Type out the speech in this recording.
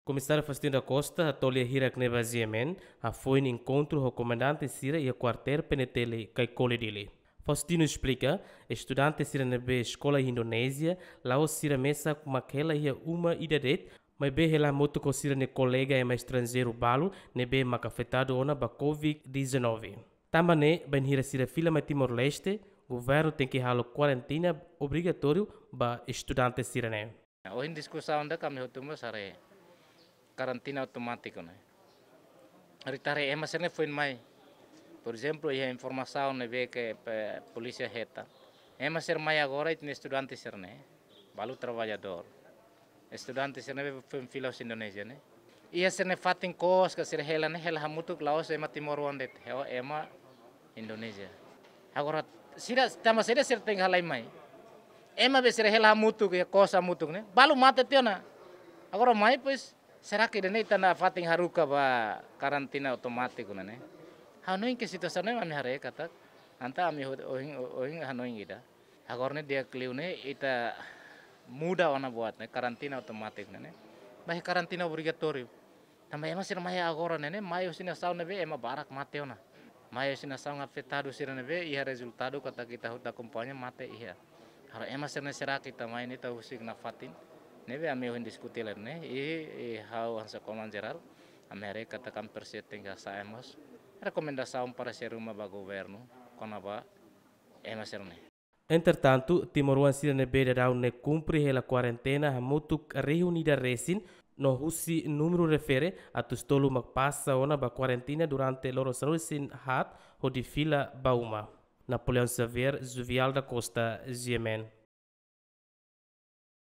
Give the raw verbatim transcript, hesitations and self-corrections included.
Komisáriu Faustino da Costa hato'o lia hirak ne'ebé GMN hafoin enkontru ho komandante sira iha kuartél PNTL Caicoli, Dili. Faustino esplika, estudante sira ne'ebé eskola iha Indonézia, la'ós sira mesak mak hela iha uma ida de'it, maibé hela hamutuk ho sira-nia kolega ema estranjeiru balu ne'ebé mak afetadu ona ba covid dezanove. Tanba ne'e, bainhira sira fila mai Timor-Leste, governu tenke halo kuarentina obrigatóriu ba estudante sira-ne'e. Ohin diskusaun ida ami hotu mós haree karantina automátiku ne'e. Ita haree ema sira-ne'e foin mai. Por ezemplu, iha informasaun ne'ebé ke, eh, polísia hetan. Ema sira mai agora ita-nia estudante sira-ne'e. Balu traballadór. Estudante sira-ne'e foin fila husi Indonézia ne'e. Iha sira-nia fatin kos ka sira hela ne'e hela hamutuk la'ós ema timoroan de'it. Hela ema Indonézia. Agora, sira, tanba sira sira tenke halai mai. Ema be sira hela hamutuk, iha kos hamutuk ne'e. Balu mate tiha ona. Agora mai, pois, será que ida-ne'e ita-nia fatin haruka ba karantina automátiku ne'e? Ha'u hanoin ke situasaun ne'e ami haree katak. Entaun ami ho-, ohin, ohin hanoin ida. Agora ne'e di'ak liu ne'e ita muda ona buat ne'e, karantina automátiku ne'e, ne'e. Ba iha karantina obrigatóriu. Tanba ema sira mai agora ne'e, ne'e, mai husi nasaun ne'ebé ema barak mate ona. Mai husi nasaun afetadu sira ne'ebé, iha rezultadu katak ita hotu akompaña mate iha. Agora ema sira-ne'e será que ita mai ne'e ita husik nafatin. Ne'ebé ami ohin diskuti lai ne'e, i, i ha'u hanesan Komandan Jerál, ami haree katak ami presiza tenke hasa'e mós rekomendasaun paresér ruma ba governu, kona-ba ema sira-ne'e. Entretantu, timoroan sira ne'ebé daudaun ne'e kumpre hela kuarentena hamutuk rihun ida resin, no husi númeru refere atus tolu mak pasa ona ba kuarentena durante loron sanulu-resin haat hodi fila ba uma. Napoleão Xavier, Juvial da Costa, GMN.